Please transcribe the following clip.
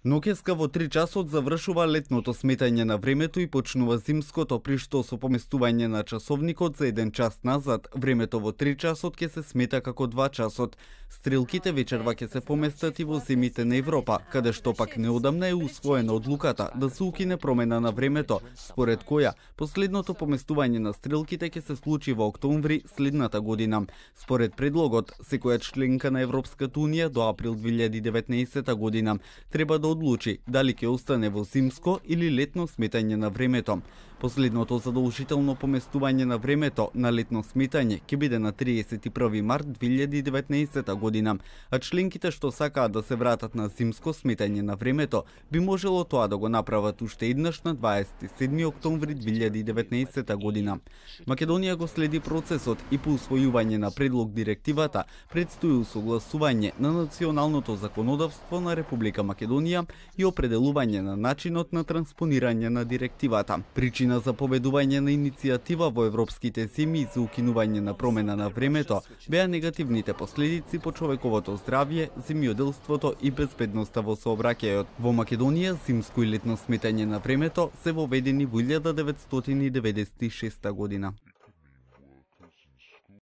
Ноќеска во 3 часот завршува летното сметање на времето и почнува зимското, при што со поместување на часовникот за 1 час назад, времето во 3 часот ќе се смета како 2 часот. Стрелките вечерва ќе се поместат и во земјите на Европа, каде што пак неодамна е усвоена одлуката да се укине промена на времето, според која последното поместување на стрелките ќе се случи во октомври следната година. Според предлогот, секоја членка на Европската унија до април 2019 година треба да одлучи дали ќе остане во зимско или летно сметање на времето. Последното задолжително поместување на времето на летно сметање ќе биде на 31 март 2019 година, а членките што сакаат да се вратат на зимско сметање на времето би можело тоа да го направат уште еднаш на 27 октомври 2019 година. Македонија го следи процесот и по усвојување на предлог директивата предстои усогласување на националното законодавство на Република Македонија и определување на начинот на транспонирање на директивата. Причина за победување на иницијатива во европските земји за укинување на промена на времето беа негативните последици по човековото здравје, земјоделството и безбедноста во сообраќајот. Во Македонија зимско и летно сметање на времето се воведени во 1996 година.